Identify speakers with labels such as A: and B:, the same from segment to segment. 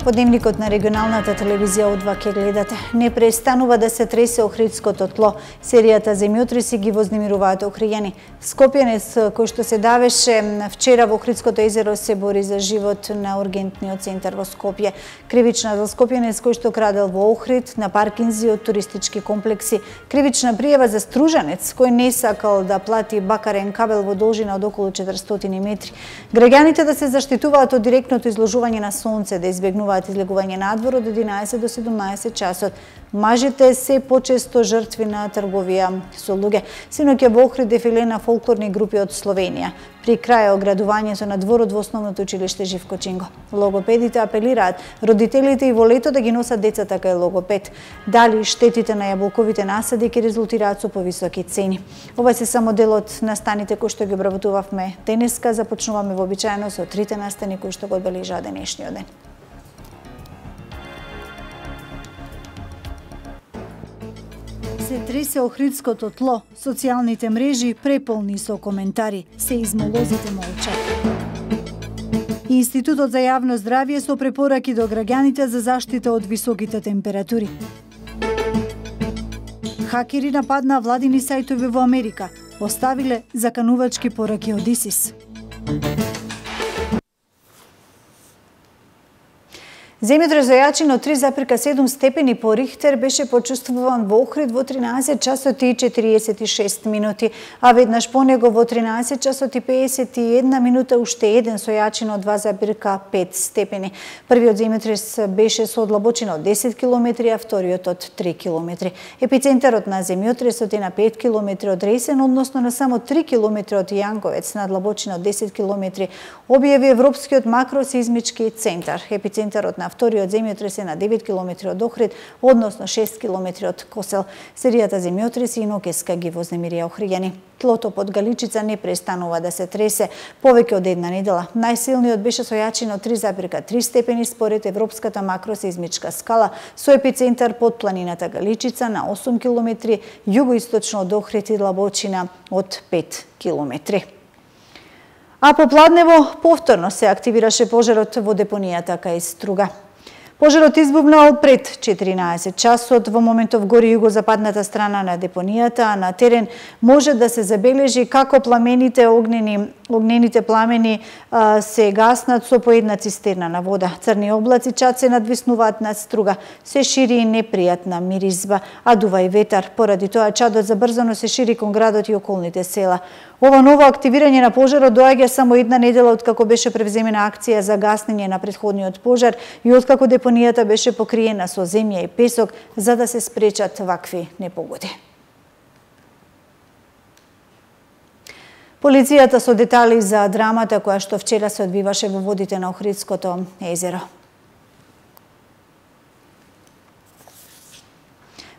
A: По дневникот на регионалната телевизија одва ке гледате. Не престанува да се тресе Охридското тло. Серијата земјотреси ги вознемируваат Охријани. Скопјанец кој што се давеше вчера во Охридското езеро се бори за живот на ургентниот центар во Скопје. Кривична за скопјанец кој што крадел во Охрид, на паркинзи од туристички комплекси. Кривична пријава за стружанец кој не сакал да плати бакарен кабел во должина од околу 400 метри. Граѓаните да се заштитуваат од директното изложување на сонце, да избегнуваат излегување надвор од 11 до 17 часот. Мажите се почесто жртви на трговија со луѓе. Синоќа во Охрид дефиле на фолклорни групи од Словенија. При крај оградувањето на дворот во основното училиште Живко Чинго. Логопедите апелираат родителите и во лето да ги носат децата кај логопед. Дали штетите на јаболковите насади ќе резултираат со повисоки цени. Ова се само дел од настаните кои што ги обработувавме денеска. Започнуваме вообичаено со трите настани кои што го одбележаа денешниот ден. Се тресе Охридското тло, социјалните мрежи преполни со коментари, се измолозите молчат. Институтот за јавно здравје со препораки до граѓаните за заштита од високите температури. Хакери нападнаа владини сајтови во Америка, оставиле заканувачки пораки од ИСИС. Земјотрес за јачина од 3,7 степени по Рихтер беше почувствуван во Охрид во 13 часот и 46 минути, а веднаш по него во 13 часот и 51 минута уште еден со јачина од 2,5 степени. Првиот земјотрес беше со длабочина од 10 км, а вториот од 3 км. Епицентарот на земјотресот е на 5 км од Ресен, односно на само 3 км од Јанковец, на длабочина од 10 км, објави Европскиот макросеизмички центар. Епицентарот на вториот земјотрес е на 9 км од Охрид, односно 6 км од Косел. Серијата земјотреси и ноќеска ги вознемирија Охријани. Тлото под Галичица не престанува да се тресе повеќе од една недела. Најсилниот беше со јачина од 3,3 степени според Европската макросеизмичка скала, со епицентар под планината Галичица на 8 км, југоисточно од Охрид и длабочина од 5 км. А попладнево повторно се активираше пожарот во депонијата кај Струга. Пожарот избувнал пред 14 часот, во моментов гори југозападната страна на депонијата, а на терен може да се забележи како огнените пламени се гаснат со по една цистерна на вода. Црни облаци чад се надвиснуваат над Струга, се шири и непријатна миризба, а дува и ветар. Поради тоа чадот забрзано се шири кон градот и околните села. Ова ново активирање на пожарот доаѓа само една недела откако беше превземена акција за гаснење на претходниот пожар и откако депонијата беше покриена со земја и песок за да се спречат вакви непогоди. Полицијата со детали за драмата која што вчера се одвиваше во водите на Охридското езеро.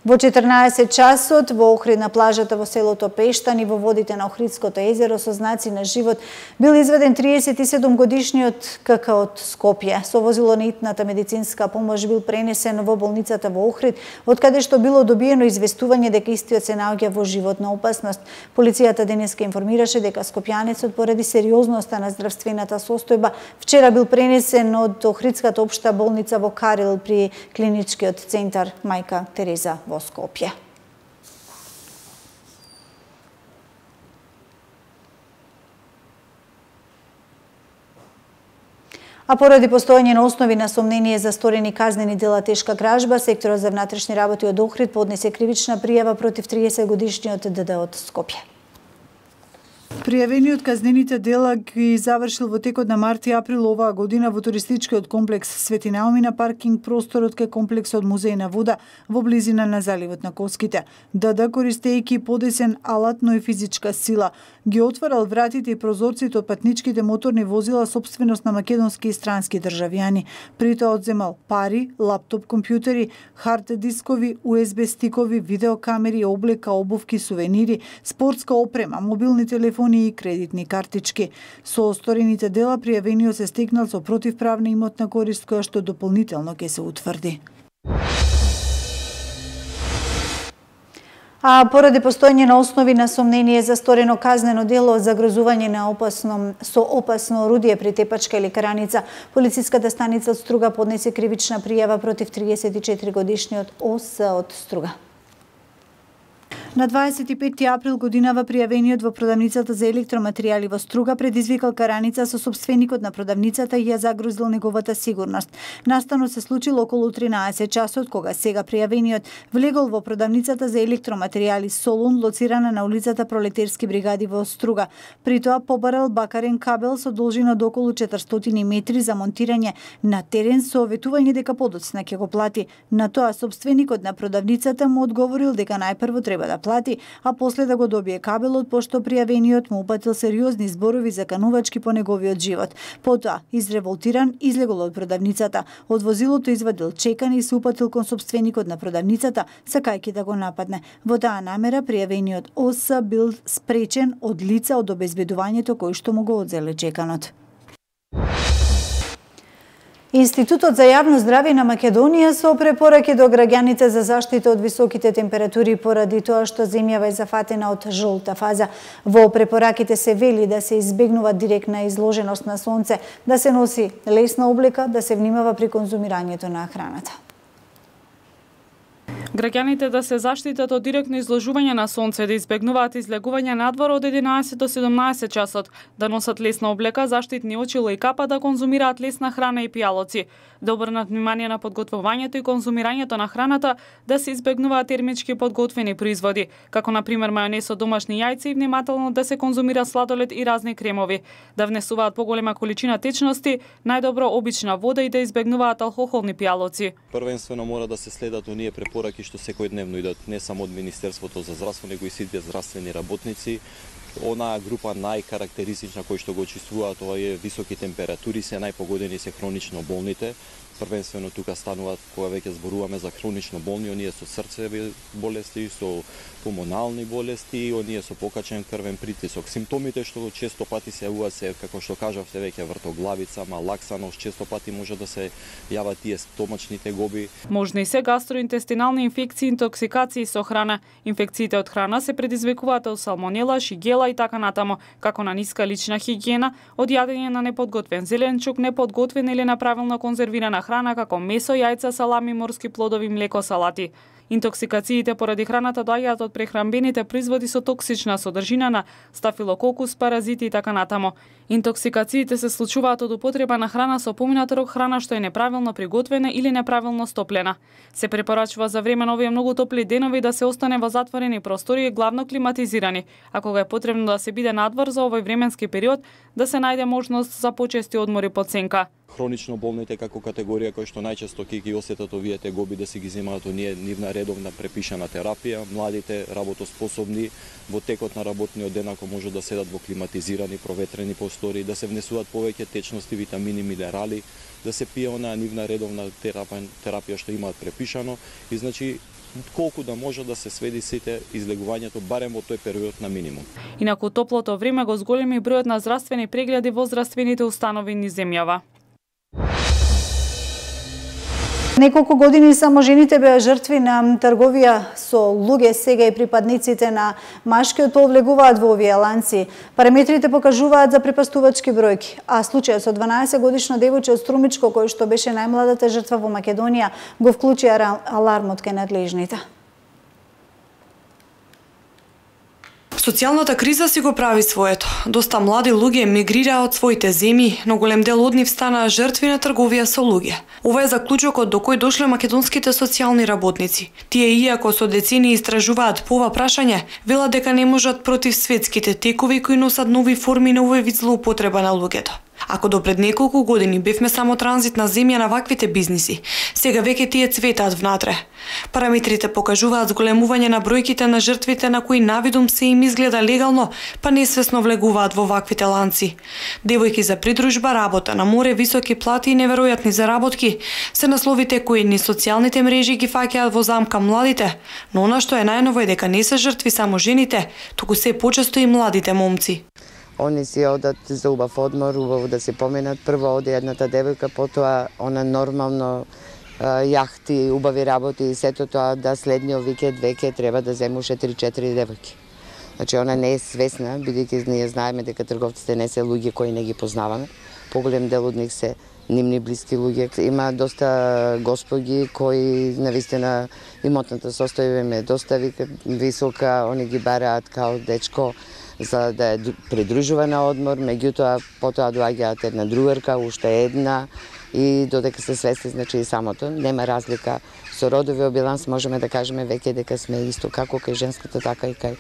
A: Во 14 часот во Охрид на плажата во селото Пештан и во водите на Охридското езеро со знаци на живот бил изведен 37-годишниот КК од Скопје. Со возило на итната медицинска помош бил пренесен во болницата во Охрид, од каде што било добиено известување дека истиот се наоѓа во животна опасност. Полицијата денеска информираше дека скопјанецот поради сериозноста на здравствената состојба вчера бил пренесен од Охридската општа болница во Карел при клиничкиот центар Мајка Тереза во Скопје. А поради постојање на основи на сомнение за сторени казнени дела тешка кражба, секторот за внатрешни работи од Охрид поднесе кривична пријава против 30-годишниот ДД од Скопје.
B: Пријавениот казнените дела ги завршил во текот на март и април оваа година во туристичкиот комплекс Свети Наоми на паркинг просторот кај комплексот Музеј на вода во близина на заливот на Коските. ДД, користејќи подесен алат, но и физичка сила, ги отварал вратите и прозорците од патничките моторни возила сопственост на македонски и странски државјани. При тоа одземал пари, лаптоп компјутери, хард дискови, USB стикови, видеокамери, облека, обувки, сувенири, спортска опрема, мобилни телефони и кредитни картички. Со осторените дела пријавениот се стекнал со противправна имотна корист која што дополнително ќе се утврди.
A: А поради постоење на основи на сомнение за сторено казнено дело за загрозување со опасно орудие при тепачка или караница, полициската станица од Струга поднесе кривична пријава против 34-годишниот ОС од Струга. На 25 април годинава пријавениот во продавницата за електроматеријали во Струга предизвикал караница со сопственикот на продавницата и ја загрозил неговата сигурност. Настанот се случил околу 13 часот, кога сега пријавениот влегол во продавницата за електроматеријали Солун, лоцирана на улицата Пролетерски бригади во Струга. При тоа побарал бакарен кабел со должина до околу 400 метри за монтирање на терен со ветување дека подоцна ќе го плати. На тоа сопственикот на продавницата му одговорил дека најпрво треба да плати, а после да го добие кабелот, пошто пријавениот му упатил сериозни зборови заканувачки по неговиот живот. Потоа, изреволтиран, излегол од продавницата. Од возилото извадил чекан и се упатил кон сопственикот на продавницата, сакајќи да го нападне. Во таа намера пријавениот ОС бил спречен од лица од обезбедувањето кој што му го одзеле чеканот. Институтот за јавно здравје на Македонија со препораки до граѓаните за заштита од високите температури поради тоа што земјава е зафатена од жолта фаза. Во препораките се вели да се избегнува директна изложеност на сонце, да се носи лесна облека, да се внимава при конзумирањето на храната.
C: Граѓаните да се заштитат од директно изложување на сонце, да избегнуваат излегување надвор од 11 до 17 часот, да носат лесна облека, заштитни очила и капа, да конзумираат лесна храна и пијалоци, да обрнат внимание на подготвувањето и конзумирањето на храната, да се избегнуваат термички подготвени производи, како на пример мајонез од домашни јајца и внимателно да се конзумира сладолед и разни кремови, да внесуваат поголема количина течности, најдобро обична вода и да избегнуваат алкохолни пијалоци.
D: Првенствено мора да се следат оние препораки што секојдневно идат не само од Министерството за здравство, него и сите здравствени работници. Онаа група најкарактеристична кој што го чувствуваат тоа е високи температури, се најпогодени се хронично болните. Првенствено тука стануваат кога веќе зборуваме за хронично болни, оние со срцеви болести, со пулмонални болести, оние со покачен крвен притисок. Симптомите што често пати се јавуваат се, како што кажавте веќе, вртоглавица, малаксаност, често пати може да се јават тие стомачни тегоби.
C: Можни се гастроинтестинални инфекции, интоксикации со храна. Инфекциите од храна се предизвикуваат од салмонела, шигела и така натаму, како на ниска лична хигиена, од јадење на неподготвен зеленчук, неподготвена или неправилно конзервирана храна како месо, јајца, салами, морски плодови, млеко, салати. Интоксикациите поради храната доаѓаат од прехранбените производи со токсична содржина на стафилококус, паразити и така натаму. Интоксикациите се случуваат од употреба на храна со поминат рок, храна што е неправилно приготвена или неправилно стоплена. Се препорачува за време на овие многу топли денови да се остане во затворени простори, главно климатизирани, а кога е потребно да се биде надвор за овој временски период, да се најде можност за почести одмори под сенка.
D: Хронично болните како категорија кои што најчесто ќе ги осетат овие тегоби да се ги земаат оние нивна редовна препишана терапија, младите работоспособни во текот на работниот ден ако може да седат во климатизирани, проветрени простори, да се внесуваат повеќе течности, витамини, минерали, да се пие онаа нивна редовна терапија што имаат препишано и значи колку да може да се сведи сите излегувањето барем во тој период на минимум.
C: Инаку топлото време го зголеми бројот на здравствени прегледи во здравствените установи низ земјава.
A: Неколку години само жените беа жртви на трговија со луѓе, сега и припадниците на машкиот пол влегуваат во овие ланци. Параметрите покажуваат за препастувачки бројки, а случајот со 12-годишно девојче од Струмичко, кој што беше најмладата жртва во Македонија, го вклучи алармот кај надлежните.
E: Социјалната криза си го прави своето. Доста млади луѓе емигрираа од своите земји, но голем дел од нив станаа жртви на трговија со луѓе. Ова е заклучокот до кој дошле македонските социјални работници. Тие, иако со децени истражуваат по ова прашање, велат дека не можат против светските текови кои носат нови форми на овој вид злоупотреба на луѓето. Ако до пред неколку години бевме само транзитна земја на ваквите бизниси, сега веќе тие цветаат внатре. Параметрите покажуваат зголемување на бројките на жртвите на кои навидум се им изгледа легално, па несвесно влегуваат во ваквите ланци. Девојки за придружба, работа на море, високи плати и неверојатни заработки се насловите кои ни социјалните мрежи ги фаќаат во замка младите, но она што е најново е дека не се жртви само жените, туку се почесто и младите момци.
F: Они си одат за убав одмор, убаво да се поменат. Прво оде едната девојка, потоа она нормално јахти, убави работи и сето тоа, да следниот викенд веќе треба да земуше 3-4 девојки. Значи, она не е свесна, бидејќи ние знаеме дека трговците не се луѓе кои не ги познаваме. Поголем дел од нив се нивни блиски луѓе. Има доста господи кои навистина имотната состојба им е доста висока, они ги бараат као дечко за да е придружува на одмор, меѓутоа потоа доаѓаат една другарка, уште една, и додека се свести, значи и самото, нема разлика. Со родовиот биланс можеме да кажеме веќе дека сме исто како кај женската, така и кај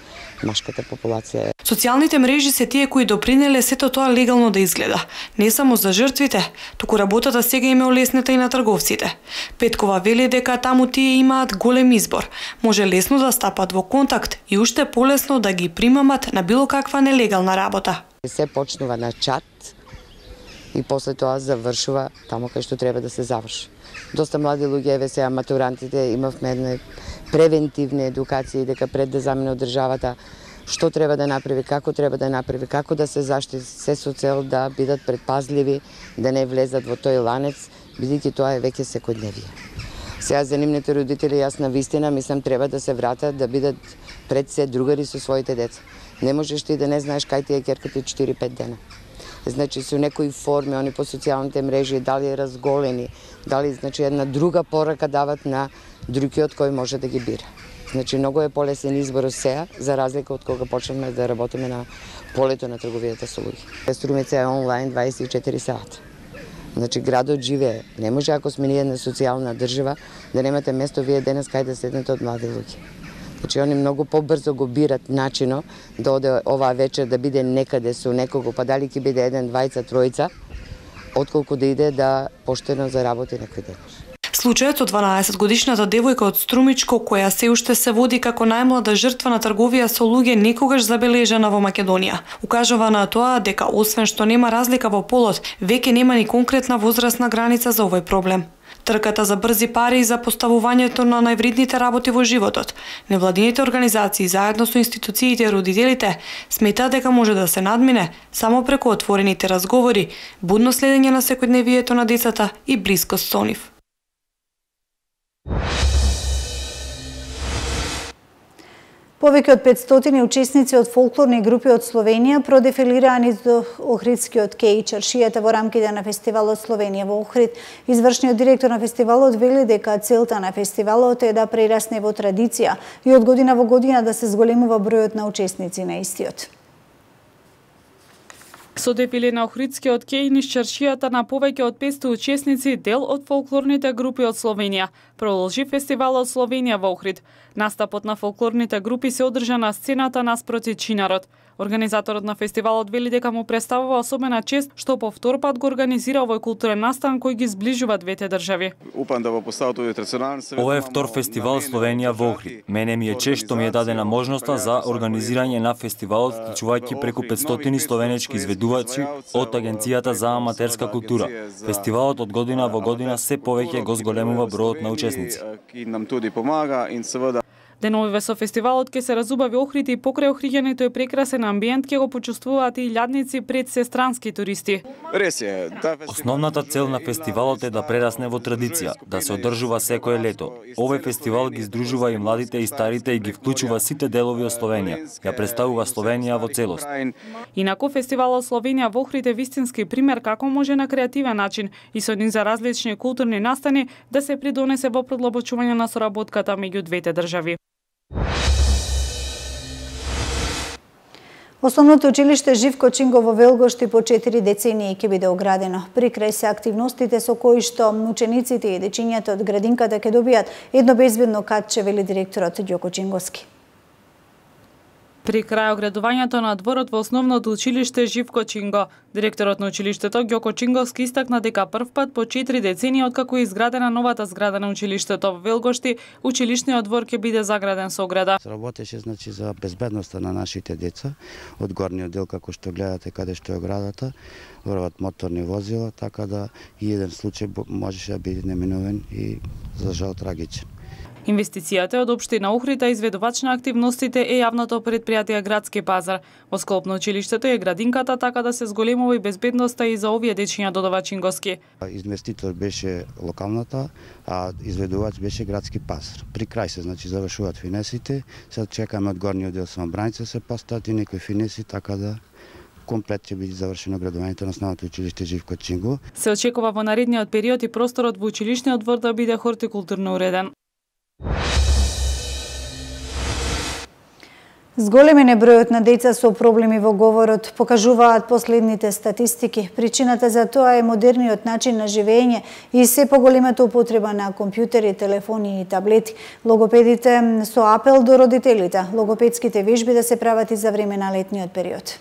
F: машката популација.
E: Социјалните мрежи се тие кои допринеле сето тоа легално да изгледа. Не само за жртвите, туку работата сега им е олеснета и на трговците. Петкова вели дека таму тие имаат голем избор. Може лесно да стапат во контакт и уште полесно да ги примамат на било каква нелегална работа.
F: Се почнува на чат и после тоа завршува таму кај што треба да се заврши. Доста млади луѓе, еве сега матурантите, имавме една превентивна едукација дека пред да замине од државата што треба да направи, како да се заштити, се со цел да бидат предпазливи, да не влезат во тој ланец, бидејќи тоа е веќе секојдневие. Сега за нивните родители, јас на вистина мислам треба да се вратат, да бидат пред се другари со своите деца. Не можеш ти да не знаеш кај ти е ќерката 4-5 дена. Значи со некои форми, они по социјалните мрежи, дали разголени, дали значи една друга порака дават на другиот кој може да ги бира. Значи многу е полесен избор сега, за разлика од кога почнеме да работиме на полето на трговијата со луѓе. Струмица е онлайн 24 сата. Значи градот живее. Не може ако сме ние една социјална држава да немате место вие денес кај да седнете од млади луѓе. Значи, они многу побрзо го бират начино да оде оваа вечер да биде некаде со некого, па дали ќе биде 1, 2, 3, отколку да иде да поштено заработи некој ден.
E: Случајот со 12-годишната девојка од Струмичко, која се уште се води како најмлада жртва на трговија со луѓе, некогаш забележана во Македонија. Укажува на тоа дека освен што нема разлика во полот, веќе нема ни конкретна возрастна граница за овој проблем. Трката за брзи пари и за поставувањето на највредните работи во животот. Невладините организации заедно со институциите и родителите сметаат дека може да се надмине само преку отворените разговори, будно следење на секојдневието на децата и блискост со нив.
A: Повеќе од 500 учесници од фолклорни групи од Словенија продефилираа низ Охридскиот кеј и чаршијата во рамките на фестивалот Словенија во Охрид. Извршниот директор на фестивалот вели дека целта на фестивалот е да прерасне во традиција и од година во година да се зголемува бројот на учесници на истиот.
C: Со дефиле на Охридскиот кеј низ чаршијата на повеќе од 500 учесници, дел од фолклорните групи од Словенија, продолжи фестивалот Словенија во Охрид. Настапот на фолклорните групи се одржа на сцената наспроти Чинарот. Организаторот на фестивалот вели дека му представува особена чест што по втор пат го организира овој културен настан кој ги зближува двете држави.
G: Ова е втор фестивал Словенија во Охрид. Мене ми е чест што ми е дадена можноста за организирање на фестивалот, вклучувајќи преку 500 словенечки изведувачи од Агенцијата за аматерска култура. Фестивалот од година во година се повеќе го зголемува бројот на учесници.
C: Деновиве со фестивалот ке се разубави Охрид и покрај Охриѓаните е прекрасен амбиент ке го почувствуваат и илјадници пред се странски туристи.
G: Основната цел на фестивалот е да прерасне во традиција, да се одржува секое лето. Овој фестивал ги здружува и младите и старите и ги вклучува сите делови од Словенија. Ја представува Словенија во целост.
C: Инаку фестивалот Словенија во Охрид е вистински пример како може на креативен начин и со низ различни културни настани да се придонесе во продлабочување на соработката меѓу двете држави.
A: Основното училиште Живко Чинго во Велгошти по 4 децении ќе биде оградено. Прикрај се активностите со кои што учениците и дечињата од градинката ќе добијат едно безбедно катче, вели директорот Ѓоко Чинговски.
C: При крај оградувањето на дворот во основното училиште Живко Чинго, директорот на училиштето Ѓоко Чинговски истакна дека првпат по 4 децении откако е изградена новата зграда на училиштето во Велгошти, училишниот двор ќе биде заграден со ограда.
H: Работеше значи за безбедноста на нашите деца, од горниот дел како што гледате каде што е оградата, врват моторни возила, така да и еден случај можеше да биде неминуван и за жал трагичен.
C: Инвестицијата од општина Охрид, а изведувач на активностите е јавното предпријатие Градски пазар. Во склоп на училиштето е градинката, така да се зголемува и безбедноста и за овие дечиња, додава Чингоски.
H: Инвеститор беше локалната, а изведувач беше Градски пазар. При крај се, значи, завршуваат финесите, сега чекаме од горниот дел самобраница се постават и некои финеси, така да комплет ќе биде завршено градувањето на основното училиште Живко Чинго.
C: Се очекува во наредниот период и просторот во училишниот двор да биде хортикултурно уреден.
A: Зголемен е бројот на деца со проблеми во говорот, покажуваат последните статистики. Причината за тоа е модерниот начин на живење и се поголемата употреба на компјутери, телефони и таблети. Логопедите со апел до родителите, логопедските вежби да се прават и за време на летниот период.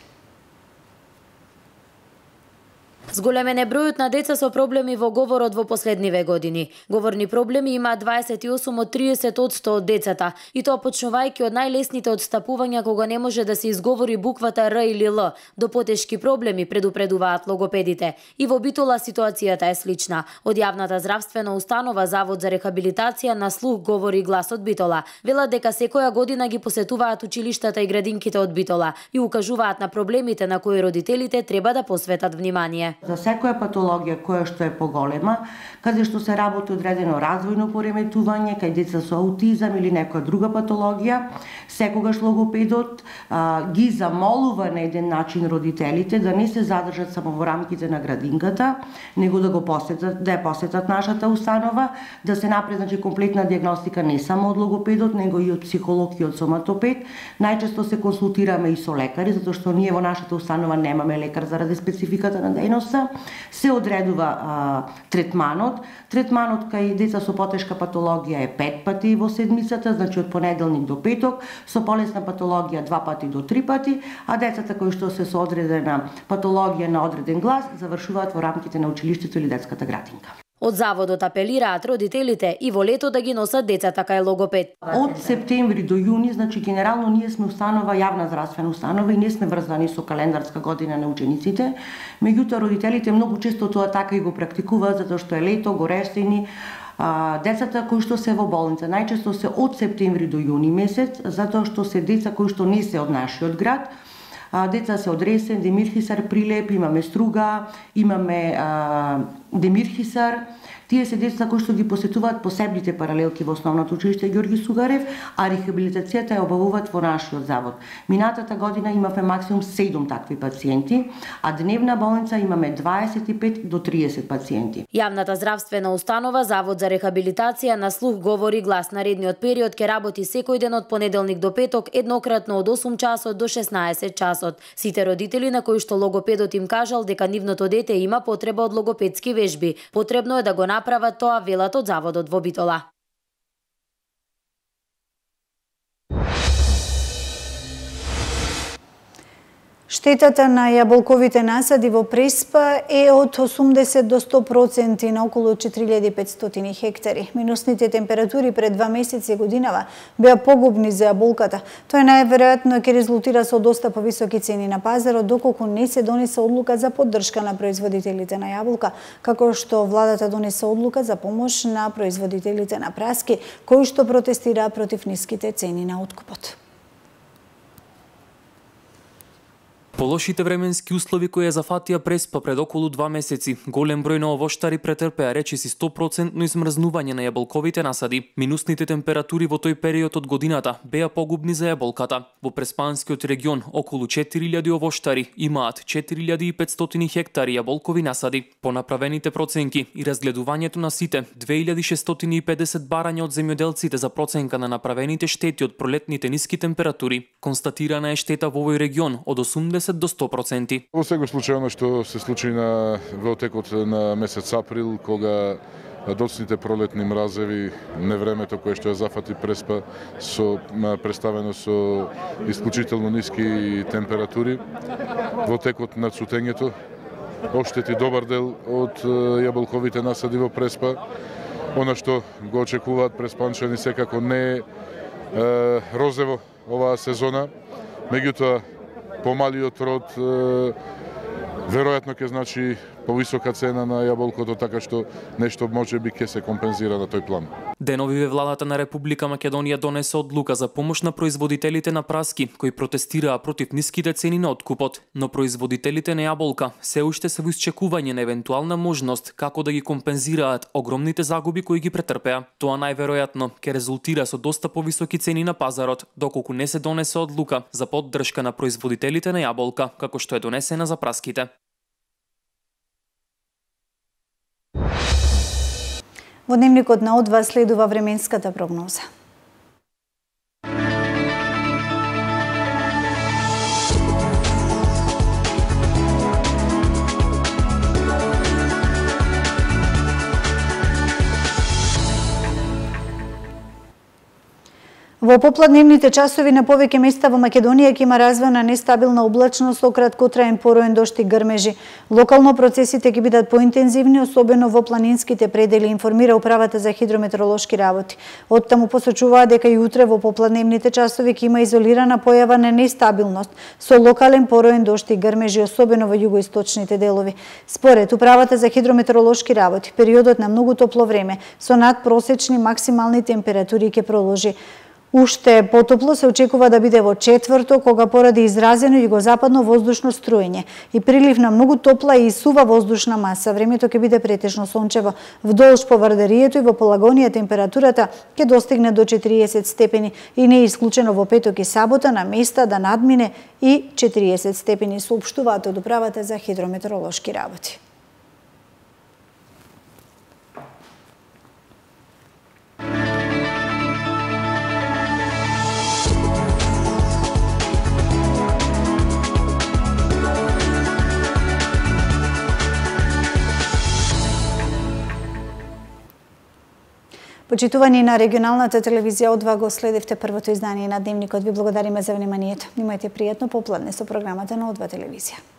I: Зголемен е бројот на деца со проблеми во говорот во последниве години. Говорни проблеми има 28 од 30% од децата, и тоа почнувајќи од најлесните отстапувања кога не може да се изговори буквата Р или Л, до потешки проблеми, предупредуваат логопедите. И во Битола ситуацијата е слична. Од јавната здравствена установа Завод за рехабилитација на слух говори гласот Битола. Велат дека секоја година ги посетуваат училиштата и градинките од Битола и укажуваат на проблемите на кои родителите треба да посветат внимание.
J: За секоја патологија која што е поголема, каде што се работи одредено развојно пореметување, кај деца со аутизам или некоја друга патологија, секогаш логопедот ги замолува на еден начин родителите да не се задржат само во рамките на градинката, него да ја посетат нашата установа, да се направи, значи, комплетна диагностика не само од логопедот, него и од психолог и од соматопед. Најчесто се консултираме и со лекари, затоа што ние во нашата установа немаме лекар заради спецификата на дејност. Се одредува третманот. Третманот кај деца со потешка патологија е 5 пати во седмицата, значи од понеделник до петок, со полесна патологија 2 пати до 3 пати, а децата кои што се со одредена патологија на одреден глас завршуваат во рамките на училиштето или детската градинка.
I: Од заводот апелираат родителите и во лето да ги носат децата кај логопед.
J: Од септември до јуни, значи генерално ние сме установа, јавна здравствена установа и не сме врзани со календарска година на учениците. Меѓутоа родителите многу често тоа така и го практикуваат, затоа што е лето, горешени. Децата кои што се во болница најчесто се од септември до јуни месец, затоа што се деца кои што не се од нашиот град. Деца се од Ресен, Демирхисар, Прилеп, имаме Струга, имаме Демирхисар. Тие се деца кои што ги посетуваат посебните паралелки во основното училиште Ѓорги Сугарев, а рехабилитацијата ја обавуваат во нашиот завод. Минатата година имавме максимум 7 такви пациенти, а дневна болница имаме 25 до 30 пациенти.
I: Јавната здравствена установа Завод за рехабилитација на слух говори глас наредниот период ќе работи секој ден од понеделник до петок, еднократно од 8 часот до 16 часот. Сите родители на кои што логопедот им кажал дека нивното дете има потреба од логопедски вежби, потребно е да го направат тоа, велат од заводот во Битола.
A: Штетата на јаболковите насади во Преспа е од 80 до 100% на околу 4500 хектари. Минусните температури пред 2 месеци годинава беа погубни за јаболката. Тоа најверојатно ќе резултира со доста повисоки цени на пазарот, доколку не се донесе одлука за поддршка на производителите на јаболка, како што владата донесе одлука за помош на производителите на праски, кои што протестираа против ниските цени на откупот.
K: Полошите временски услови кои ја зафатија Преспа пред околу 2 месеци, голем број на овоштари претрпеа речиси 100% измрзнување на јаболковите насади. Минусните температури во тој период од годината беа погубни за јаболката. Во Преспанскиот регион околу 4000 овоштари имаат 4500 хектари јаболкови насади. По направените проценки и разгледувањето на сите 2650 барања од земјоделците за проценка на направените штети од пролетните ниски температури, констатирана е штета во овој регион од 80 до 100%.
L: Во секој случај оно што се случи во текот на месец април, кога доцните пролетни мразеви, невремето кое што ја зафати Преспа, представено со исклучително ниски температури, во текот на цутењето, оштети добар дел од јаболковите насади во Преспа. Она што го очекуваат преспанчани секако не е розево оваа сезона, меѓутоа помалиот род веројатно ќе значи повисока цена на јаболкото, така што нешто можеби ќе се компензира на тој план.
K: Деновиве владата на Република Македонија донесе одлука за помош на производителите на праски кои протестираа против ниските цени на откупот, но производителите на јаболка се уште се во исчекување на евентуална можност како да ги компензираат огромните загуби кои ги претрпеа. Тоа најверојатно ќе резултира со доста повисоки цени на пазарот, доколку не се донесе одлука за поддршка на производителите на јаболка, како што е донесена за праските.
A: Во дневникот на О2 следува временската прогноза. Во попладневните часови на повеќе места во Македонија ќе има развојна нестабилна облачност со краткотраен пороен дожд и грмежи. Локално процесите ќе бидат поинтензивни, особено во планинските предели, информира Управата за хидрометеоролошки работи. Оттаму посочуваа дека и утре во попладневните часови ќе има изолирана појава на нестабилност со локален пороен дожд и грмежи, особено во југоисточните делови. Според Управата за хидрометеоролошки работи, периодот на многу топло време со надпросечни максимални температури ќе продолжи. Уште потопло се очекува да биде во четврток, кога поради изразено југозападно воздушно струење и прилив на многу топла и сува воздушна маса, времето ќе биде претежно сончево. Вдолж Повардарието и во Полагонија температурата ќе достигне до 40 степени и не е исклучено во петок и сабота на места да надмине и 40 степени, соопштуваат од Управата за хидрометеоролошки работи. Почитувани на регионалната телевизија О2 го следевте првото издание на Дневникот. Ви благодариме за вниманието. Имајте пријатно попладне со програмата на О2 телевизија.